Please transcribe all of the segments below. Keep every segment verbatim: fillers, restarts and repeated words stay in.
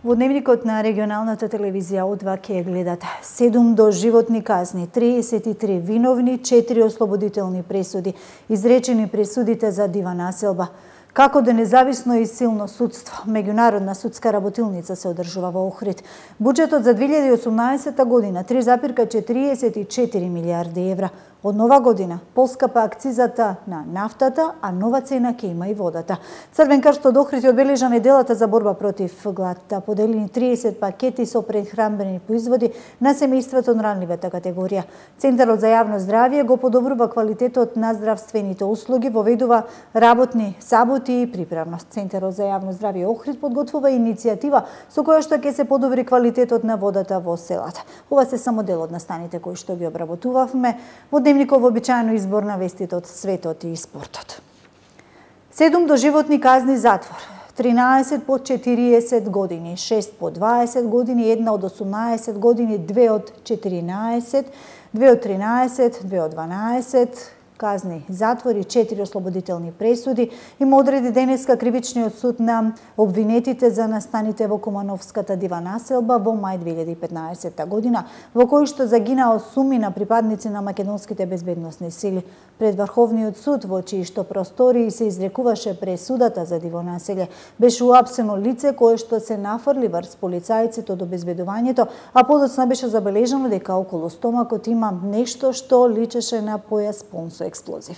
Во дневникот на регионалната телевизија одва ќе гледате седум доживотни казни, триесет и три виновни, четири ослободителни пресуди, изречени пресудите за дива населба. Како да независно и силно судство, меѓународна судска работилница се одржува во Охрид. Буџетот за две илјади и осумнаесета година три запирка четириесет и четири милијарди евра. Од нова година поскапа акцизата на нафтата, а нова цена ќе има и водата. Црвен крст од Охрид ја одбележа неделата за борба против гладта. Поделени триесет пакети со прехранбени производи на семејството од ранливата категорија. Центарот за јавно здравје го подобрува квалитетот на здравствените услуги, воведува работни саботи и приправност. Центарот за јавно здравје Охрид подготвува иницијатива со која што ќе се подобри квалитетот на водата во селата. Ова се само дел од настаните кои што ги обработувавме во дневников вообичаено избор на вестите од светот и спортот. Седум доживотни казни затвор, тринаесет по четириесет години, шест по дваесет години, една од осумнаесет години, две од четиринаесет, две од тринаесет, две од дванаесет, казни затвори, четири ослободителни пресуди. Има одреди денеска кривичниот суд на обвинетите за настаните во Кумановската дива населба во мај две илјади и петнаесета година, во кој што загинаа осумина припадници на македонските безбедносни сили. Пред Врховниот суд, во чии што простории се изрекуваше пресудата за диво населје, беше уапсено лице кое што се нафрли врз полицајците од обезбедувањето, а подоцна беше забележано дека околу стомакот има нешто што личеше на појас пун со експлозив.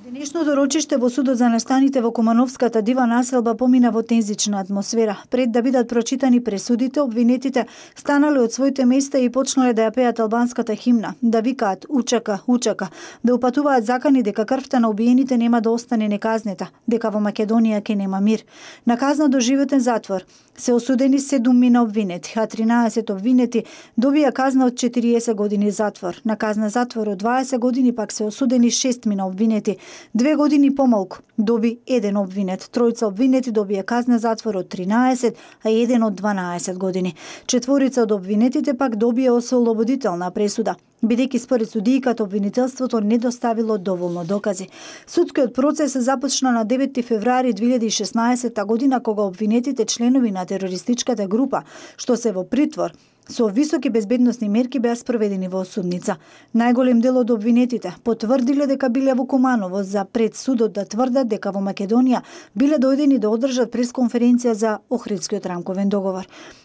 Денешното рочиште во судот за настаните во Кумановската дива населба помина во тензична атмосфера. Пред да бидат прочитани пресудите, обвинетите станале од своите места и почнале да ја пеат албанската химна, да викаат "Учака, учака", да упатуваат закани дека крвта на убиените нема да остане неказнета, дека во Македонија ќе нема мир. На казна доживотен затвор се осудени седумина обвинети, а тринаесет обвинети добија казна од четириесет години затвор. На казна затвор од дваесет години пак се осудени шестмина обвинети. Две години помалку доби еден обвинет. Тројца обвинети добија казна затвор од тринаесет, а еден од дванаесет години. Четворица од обвинетите пак добија ослободителна пресуда, бидејќи според судијката обвинителството не доставило доволно докази. Судскиот процес започна на девети февруари две илјади и шеснаесета година, кога обвинетите членови на терористичката група, што се во притвор, со високи безбедносни мерки беа спроведени во судница. Најголем дел од обвинетите потврдиле дека биле во Куманово за пред судот да тврдат дека во Македонија биле дојдени да одржат пресконференција за Охридскиот рамковен договор.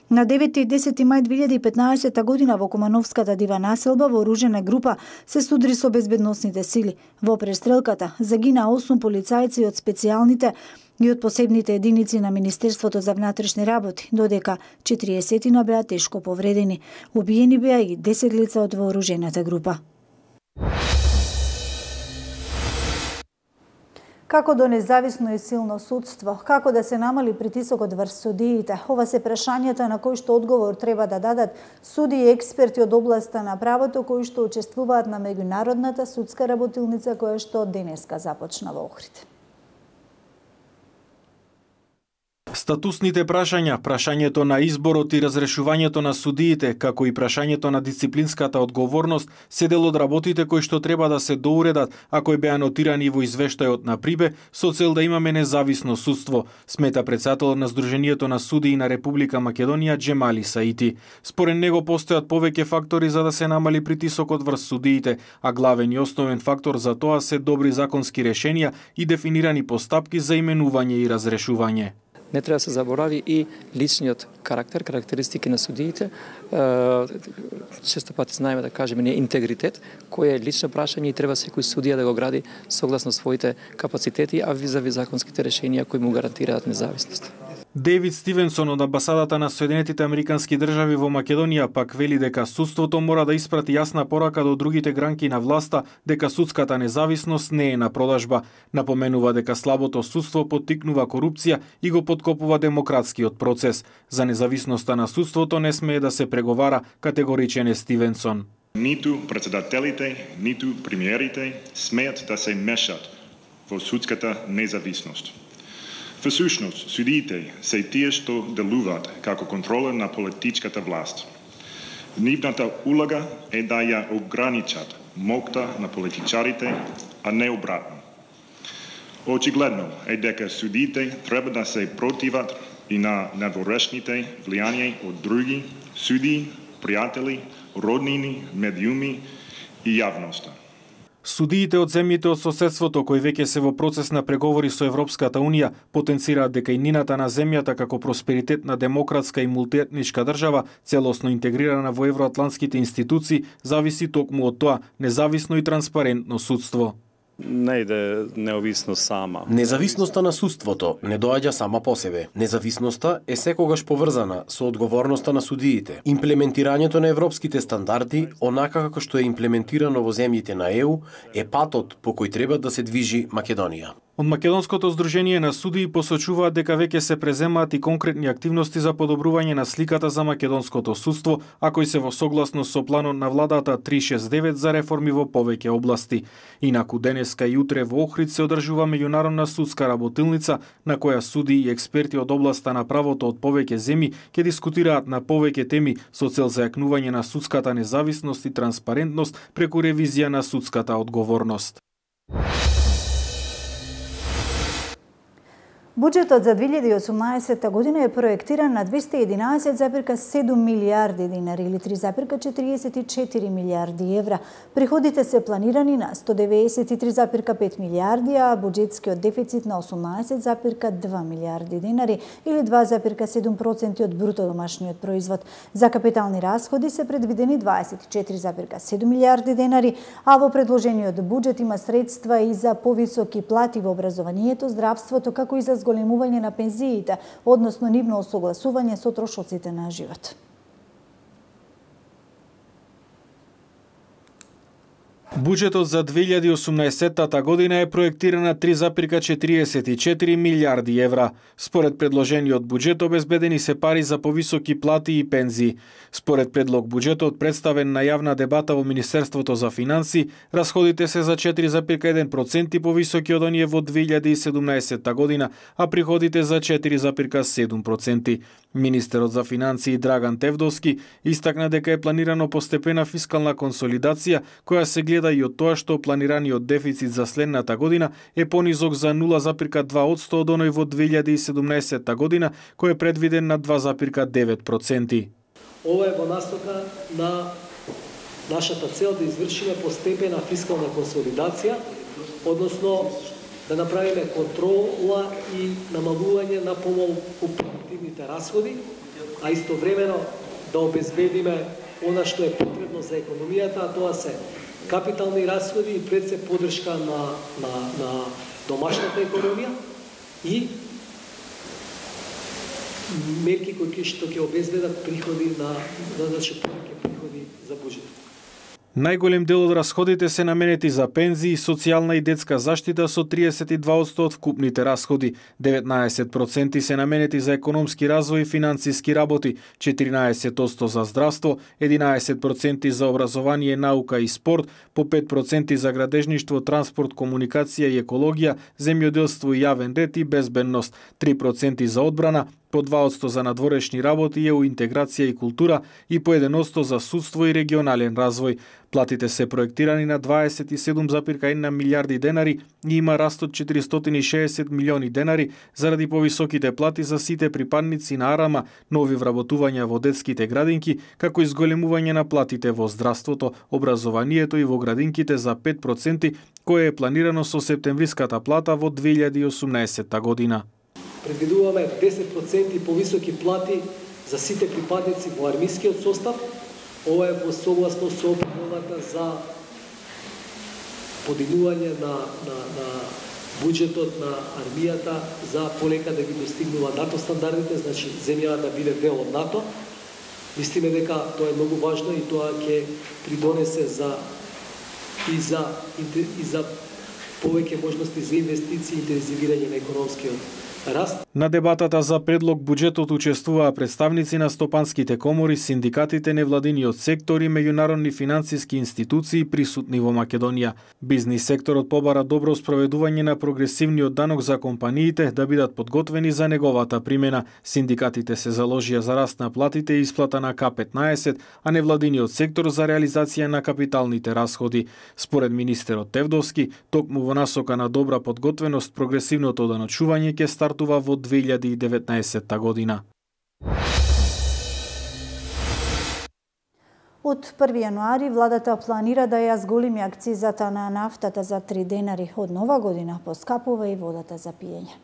На девети и десети мај две илјади и петнаесета година во Кумановската дива населба вооружена група се судри со безбедносните сили. Во престрелката загинаа осум полицајци од специјалните и од посебните единици на Министерството за внатрешни работи, додека четириесетина беа тешко повредени. Убиени беа и десет лица од вооружената група. Како до независно и силно судство, како да се намали притисокот врз судиите, ова се прашањата на кои што одговор треба да дадат суди и експерти од областа на правото кои што учествуваат на меѓународната судска работилница која што денеска започна во Охрид. Статусните прашања, прашањето на изборот и разрешувањето на судиите, како и прашањето на дисциплинската одговорност, се дел од работите кои што треба да се доуредат, а кои беа нотирани во извештајот на Прибе, со цел да имаме независно судство, смета претседателот на Сдруженијето на судии на Република Македонија Џемали Саити. Според него постојат повеќе фактори за да се намали притисокот врз судиите, а главен и основен фактор за тоа се добри законски решенија и дефинирани постапки за именување и разрешување. Не треба да се заборави и личниот карактер, карактеристики на судиите. Често пати знаеме да кажеме не интегритет, кој е лично прашање и треба секој судија да го гради согласно своите капацитети, а визави законските решенија кои му гарантираат независност. Дейвид Стивенсон од амбасадата на Соединетите Американски држави во Македонија пак вели дека судството мора да испрати јасна порака до другите гранки на власта дека судската независност не е на продажба. Напоменува дека слабото судство поттикнува корупција и го подкопува демократскиот процес. За независноста на судството не смее да се преговара, категоричен е Стивенсон. Ниту председателите, ниту премиерите смеат да се мешат во судската независност. Всушност, судиите се тие што делуваат како контрола на политичката власт. Нивната улога е да ја ограничат моќта на политичарите, а не обратно. Очигледно е дека судиите треба да се противат и на надворешните влијања од други суди, пријатели, роднини, медиуми и јавноста. Судиите од земјите од соседството кои веќе се во процес на преговори со Европската Унија потенцираат дека и нината на земјата како просперитетна демократска и мултиетничка држава, целосно интегрирана во евроатлантските институции, зависи токму од тоа независно и транспарентно судство. Не иде неовисност сама. Независноста на судството не доаѓа сама по себе. Независноста е секогаш поврзана со одговорноста на судиите. Имплементирањето на европските стандарди, онака како што е имплементирано во земјите на Е У, е патот по кој треба да се движи Македонија. Од Македонското здружение на судии посочуваат дека веќе се преземаат и конкретни активности за подобрување на сликата за македонското судство, а кои се во согласност со планот на владата триста шесдесет и девет за реформи во повеќе области. Инаку денеска и утре во Охрид се одржува меѓународна судска работилница на која судии и експерти од областа на правото од повеќе земји ќе дискутираат на повеќе теми со цел зајакнување на судската независност и транспарентност преку ревизија на судската одговорност. Буџетот за две илјади и осумнаесетта година е проектиран на двеста и единаесет зарез седум милијарди динари или три зарез четириесет и четири милијарди евра. Приходите се планирани на сто деветдесет и три зарез пет милијарди, а буџетскиот дефицит на осумнаесет зарез два милијарди динари или два зарез седум проценти од бруто домашниот производ. За капитални расходи се предвидени дваесет и четири зарез седум милијарди динари, а во предложениот буџет има средства и за повисоки плати во образованието, здравството, како и за зголемување на пензиите, односно нивно осогласување со трошоците на живот. Буџетот за две илјади и осумнаесетта година е проектиран на три зарез четириесет и четири милијарди евра. Според предложениот буџет обезбедени се пари за повисоки плати и пензии. Според предлог буџетот представен на јавна дебата во Министерството за финансии, расходите се за четири зарез еден проценти повисоки од оние во две илјади и седумнаесетта година, а приходите за четири зарез седум проценти. Министерот за финансии Драган Тевдовски истакна дека е планирано постепена фискална консолидација која се гледа и од тоа што планираниот дефицит за следната година е понизок за нула зарез два одсто од оној во две илјади и седумнаесетта година, кој е предвиден на два зарез девет проценти. Ова е во насока на нашата цел да извршиме постепена фискална консолидација, односно да направиме контрола и намалување на помалку продуктивните расходи, а истовремено да обезбедиме она што е потребно за економијата, а тоа се капитални расходи и пред се поддршка на, на, на домашната економија и мерки кои што ќе обезбедат приходи на, значи повеќе приходи за буџетот. Најголем дел од расходите се наменети за пензии, социјална и детска заштита со триесет и два одсто од вкупните расходи, деветнаесет проценти се наменети за економски развој и финансиски работи, четиринаесет одсто за здравство, единаесет проценти за образование, наука и спорт, по пет проценти за градежништво, транспорт, комуникација и екологија, земјоделство и јавен ред и безбедност, три проценти за одбрана, по два одсто за надворешни работи, ЕУ интеграција и култура и по еден одсто за судство и регионален развој. Платите се проектирани на дваесет и седум зарез една милијарди денари и има раст од четиристотини и шеесет милиони денари заради повисоките плати за сите припадници на Арама, нови вработувања во детските градинки, како и зголемување на платите во здравството, образованието и во градинките за пет проценти, кое е планирано со септемвриската плата во две илјади и осумнаесетта година. Предвидуваме десет проценти повисоки плати за сите припадници во армискиот состав. Ова е во согласност со обновата за подигнување на, на, на буџетот на армијата за полека да ги достигнува НАТО стандардите, значи земјата да биде дел од НАТО. Мислиме дека тоа е многу важно и тоа ќе придонесе за и за и за повеќе можности за инвестиции и интензивирање на економскиот раст. На дебатата за предлог буџетот учествуваа представници на стопанските комори, синдикатите, невладиниот сектор и меѓународни финансиски институции присутни во Македонија. Бизнис секторот побара добро спроведување на прогресивниот данок за компаниите да бидат подготвени за неговата примена. Синдикатите се заложија за раст на платите и исплата на К петнаесет, а невладиниот сектор за реализација на капиталните расходи. Според министерот Тевдовски, токму во насока на добра подготвеност, прогресивното даночување ќе стартува во две илјади и деветнаесетта година. Од први јануари владата планира да ја зголеми акцизата на нафтата за три денари. Од нова година поскапува и водата за пиење.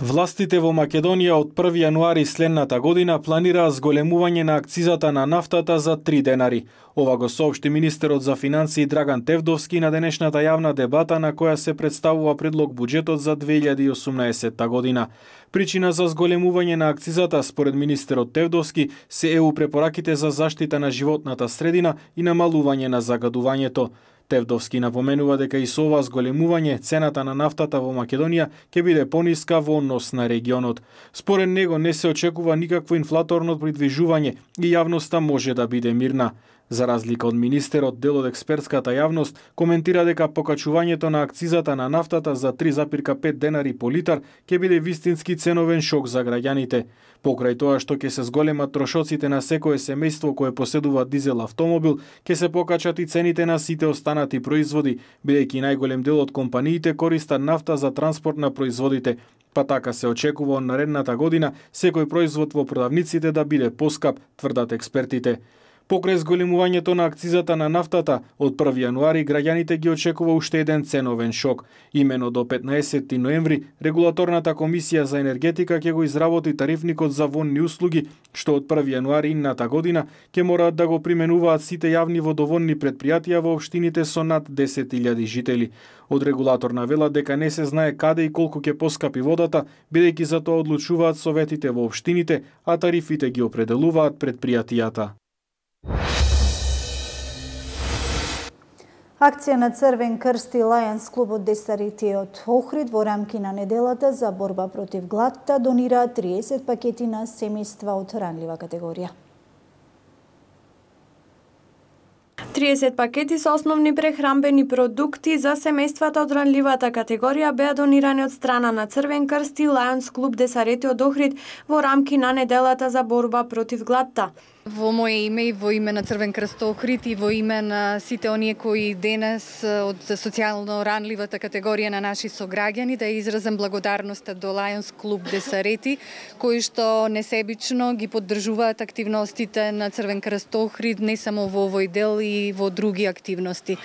Властите во Македонија од први јануари следната година планираа зголемување на акцизата на нафтата за три денари. Ова го соопшти министерот за финансии Драган Тевдовски на денешната јавна дебата на која се представува предлог буџетот за две илјади и осумнаесетта година. Причина за зголемување на акцизата според министерот Тевдовски се е у препораките за заштита на животната средина и намалување на загадувањето. Тевдовски напоменува дека и со ова зголемување цената на нафтата во Македонија ќе биде пониска во однос на регионот. Според него не се очекува никакво инфлаторно придвижување и јавноста може да биде мирна. За разлика од министерот, дел од експертската јавност коментира дека покачувањето на акцизата на нафтата за три запирка пет денари по литар ќе биде вистински ценовен шок за граѓаните. Покрај тоа што ќе се зголемат трошоците на секое семејство кое поседува дизел автомобил, ќе се покачат и цените на сите останати производи, бидејќи најголем дел од компаниите користат нафта за транспорт на производите. Па така се очекува од наредната година секој производ во продавниците да биде поскап, тврдат експертите. Покрај зголемувањето на акцизата на нафтата, од први јануари граѓаните ги очекува уште еден ценовен шок. Имено до петнаесетти ноември, Регулаторната комисија за енергетика ќе го изработи тарифникот за вонни услуги, што од први јануари инната година ќе мораат да го применуваат сите јавни водоводни претпријатија во општините со над десет илјади жители. Од регулаторна вела дека не се знае каде и колку ќе поскапи водата, бидејќи за тоа одлучуваат советите во општините, а тарифите ги определуваат претпријатијата. Акција на Црвен крст и Лајонс клубот Десарити од Охрид во рамки на неделата за борба против гладта донираа триесет пакети на семејства од ранлива категорија. триесет пакети со основни прехранбени продукти за семејствата од ранливата категорија беа донирани од страна на Црвен крст и Лајонс клуб Десарити од Охрид во рамки на неделата за борба против гладта. Во моје име и во име на Црвен крст Охрид и во име на сите оние кои денес од социјално ранливата категорија на наши сограѓани да изразам благодарноста до Лајонс клуб Десарети, кои што несебично ги поддржуваат активностите на Црвен крст Охрид не само во овој дел и во други активности.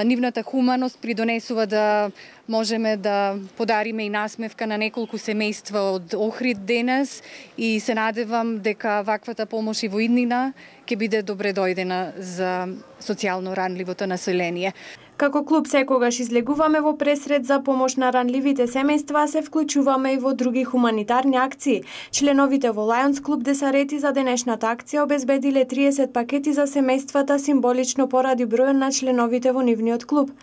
Нивната хуманост придонесува да можеме да подариме и насмевка на неколку семејства од Охрид денес и се надевам дека ваквата помош и во иднина ќе биде добре дојдена за социјално ранливото население. Како клуб секогаш излегуваме во пресред за помош на ранливите семејства, се вклучуваме и во други хуманитарни акции. Членовите во Лајонс клуб Десарети за денешната акција обезбедиле триесет пакети за семејствата символично поради бројот на членовите во нивниот клуб.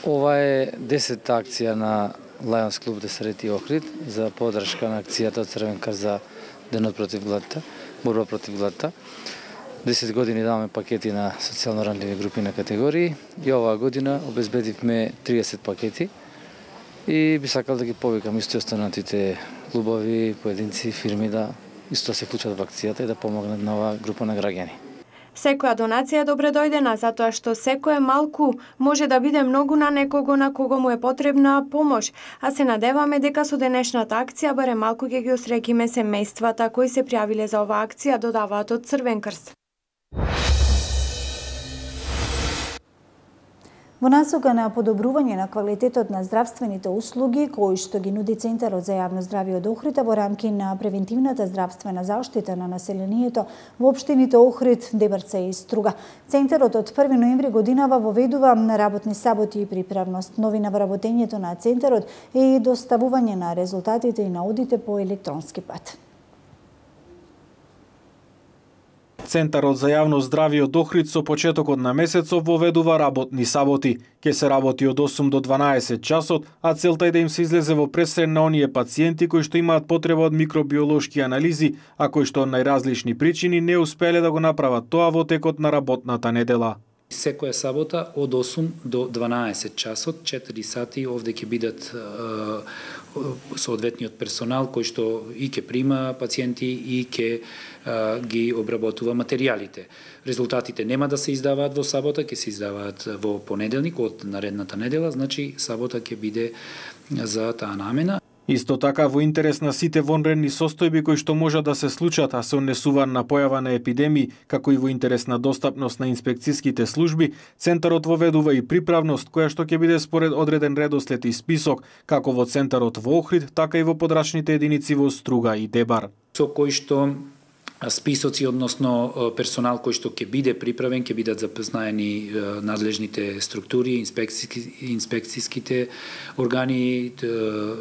Ова е десетта акција на Лајонс клуб Десарети Охрид за поддршка на акцијата од Црвен крст за денот против гладта, борба против гладта. десет години даваме пакети на социјално ранливи групи на категории и оваа година обезбедивме триесет пакети и би сакал да ги повикам исто останатите клубови, поединци, фирми да исто се вклучат во акцијата и да помогнат на оваа група на граѓани. Секоја донација е добре дојдена, затоа што секое малку може да биде многу на некого на кого му е потребна помош, а се надеваме дека со денешната акција барем малку ќе ги осреќиме семејствата кои се пријавиле за оваа акција, додаваат од Црвен крст. Во насока на подобрување на квалитетот на здравствените услуги, кои што ги нуди Центарот за јавно здравје од Охрид во рамки на превентивната здравствена заштита на населението во општините Охрид, Дебрца и Струга. Центарот од први ноември годинава воведува работни саботи и приправност. Новина во работењето на Центарот е и доставување на резултатите и наудите по електронски пат. Центарот за јавно здравје од Охрид со почетокот на месецов воведува работни саботи. Ке се работи од осум до дванаесет часот, а целта е да им се излезе во пресред на оние пациенти кои што имаат потреба од микробиолошки анализи, а кои што од најразлични причини не успеле да го направат тоа во текот на работната недела. Секоја сабота од осум до дванаесет часот, четири сати овде ќе бидат е, соодветниот персонал кој што и ќе прима пациенти и ќе е, ги обработува материјалите. Резултатите нема да се издаваат во сабота, ќе се издаваат во понеделник од наредната недела, значи сабота ќе биде за таа намена. Исто така, во интерес на сите вонредни состојби кои што можат да се случат, а се однесуваат на појава на епидемии, како и во интерес на достапност на инспекцијските служби, Центарот воведува и приправност, која што ќе биде според одреден редослед и список, како во Центарот во Охрид, така и во подрачните единици во Струга и Дебар. Со кој што списоци, односно персонал кој што ќе биде приправен, ќе бидат запознаени надлежните структури, инспекцијски, инспекцијските органи,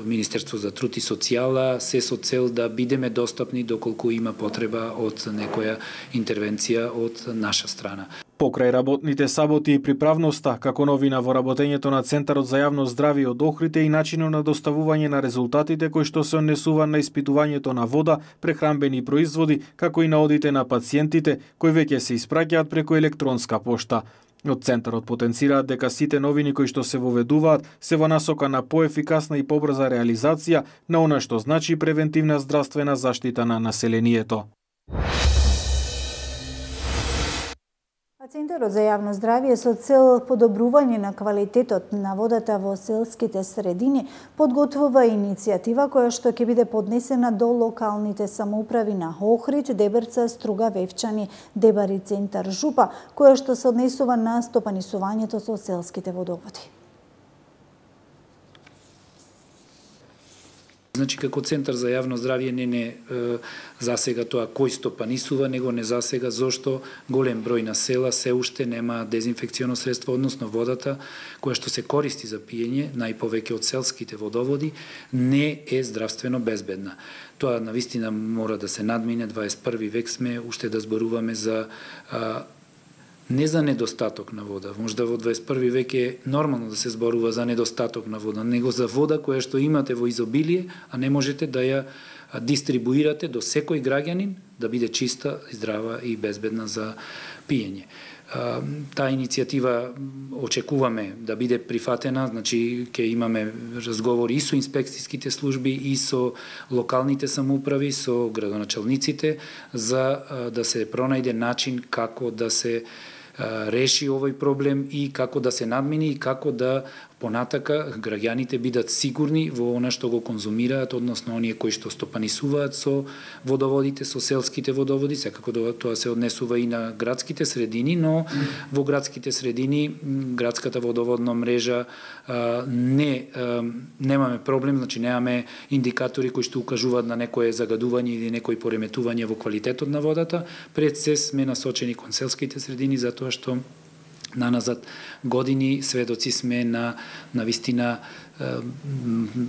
Министерство за труд и социјала, се со цел да бидеме достапни доколку има потреба од некоја интервенција од наша страна. Покрај работните саботи и приправноста, како новина во работењето на Центарот за јавно здравје од Охрид е и начинот на доставување на резултатите кои што се однесува на испитувањето на вода, прехранбени производи, како и на одите на пациентите, кои веќе се испраќаат преку електронска пошта. Од Центарот потенцираат дека сите новини кои што се воведуваат се во насока на поефикасна и побрза реализација на она што значи превентивна здравствена заштита на населението. Центарот за јавно здравје со цел подобрување на квалитетот на водата во селските средини подготвува иницијатива која што ќе биде поднесена до локалните самоуправи на Охрид, Деберца, Струга, Вевчани, Дебар и Центар Жупа, која што се однесува на стопанисувањето со селските водоводи. Значи, како Центар за јавно здравје не не е, засега тоа кој стопанисува, него не засега зошто голем број на села се уште нема дезинфекционо средство, односно водата која што се користи за пиење, најповеќе од селските водоводи, не е здравствено безбедна. Тоа навистина мора да се надмине, дваесет и први век сме, уште да зборуваме за а, не за недостаток на вода. Можда во дваесет и први век е нормално да се зборува за недостаток на вода, него за вода која што имате во изобилие, а не можете да ја дистрибуирате до секој граѓанин да биде чиста, здрава и безбедна за пиење. Таа иницијатива очекуваме да биде прифатена, значи ќе имаме разговори и со инспекцијските служби и со локалните самоуправи, со градоначалниците за да се пронајде начин како да се реши овој проблем и како да се надмини и како да понатака граѓаните бидат сигурни во она што го конзумираат, односно оние кои што стопанисуваат со водоводите, со селските водоводи, секако тоа се однесува и на градските средини, но во градските средини градската водоводна мрежа не немаме проблем, значи немаме индикатори кои што укажуваат на некое загадување или некои пореметување во квалитетот на водата. Пред се сме насочени кон селските средини затоа што наназад години сведоци сме на навистина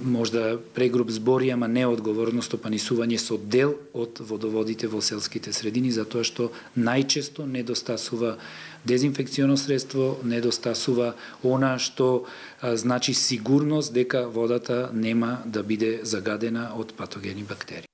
можда прегруп збори, ама неодговорно стопанисување со дел од водоводите во селските средини, затоа што најчесто недостасува дезинфекционо средство, недостасува она што а, значи сигурност дека водата нема да биде загадена од патогени бактерии.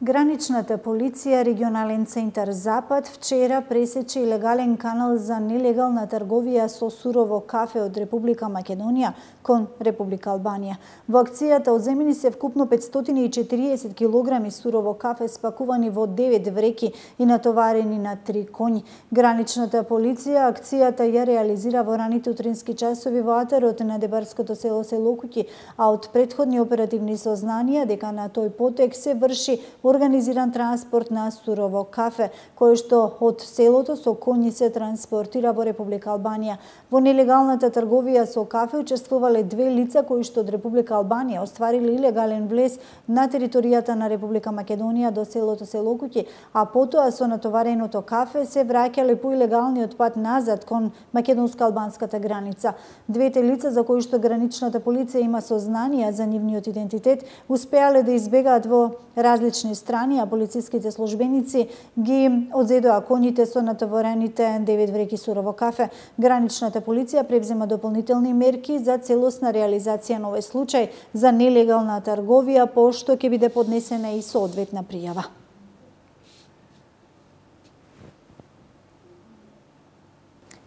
Граничната полиција, регионален центар Запад, вчера пресече илегален канал за нелегална трговија со сурово кафе од Република Македонија кон Република Албанија. Во акцијата одземени се вкупно петстотини и четириесет килограми сурово кафе спакувани во девет вреки и натоварени на три коњи. Граничната полиција акцијата ја реализира во раните утрински часови во атарот на дебарското село Селокуќи, а од претходни оперативни сознанија дека на тој потек се врши организиран транспорт на сурово кафе, кој што од селото со коњи се транспортира во Република Албанија. Во нелегалната трговија со кафе учествувале две лица кои што од Република Албанија оствариле илегален влез на територијата на Република Македонија до селото Селокуќи, а потоа со натовареното кафе се враќале по илегалниот пат назад кон македонско-албанската граница. Двете лица за кои што граничната полиција има сознанија за нивниот идентитет успеале да избегаат во различни страни, а полициските службеници ги одзедоа коњите со натоварените девет вреќи сурово кафе. Граничната полиција превзема дополнителни мерки за целосна реализација на овој случај за нелегална трговија, пошто ќе биде поднесена и соодветна пријава.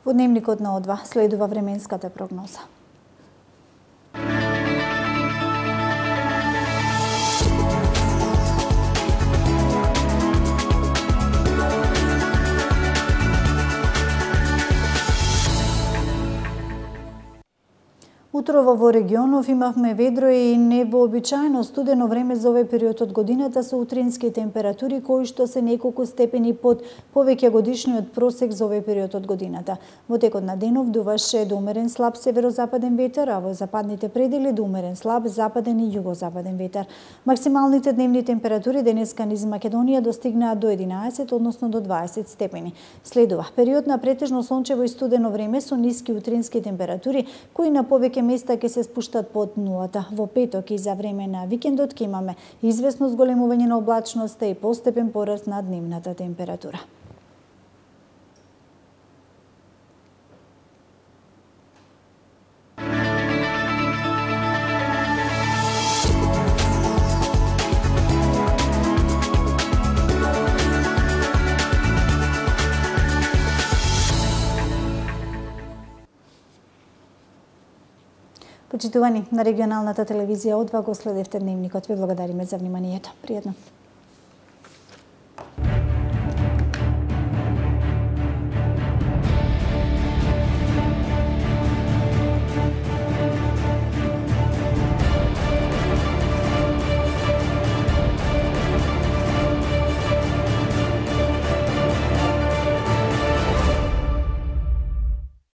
Во дневникот на О два следува временската прогноза. Утрово во регионов имавме ведро и невообичаено студено време за овој период од годината со утрински температури кои што се неколку степени под повеќе годишниот просек за овој период од годината. Во текот на денов дуваше до умерен слаб северозападен ветер, а во западните предели до умерен слаб западен и југозападен ветер. Максималните дневни температури денеска низ Македонија достигнаа до единаесет, односно до дваесет степени. Следува период на претежно сончево и студено време со ниски утрински температури кои на повеќе места ќе се спуштат под нулата. Во петок и за време на викендот ќе имаме извесно зголемување на облачноста и постепен пораст на дневната температура. Почитувани, на регионалната телевизија О два го следевте дневникот. Ви благодариме за вниманието. Пријатно.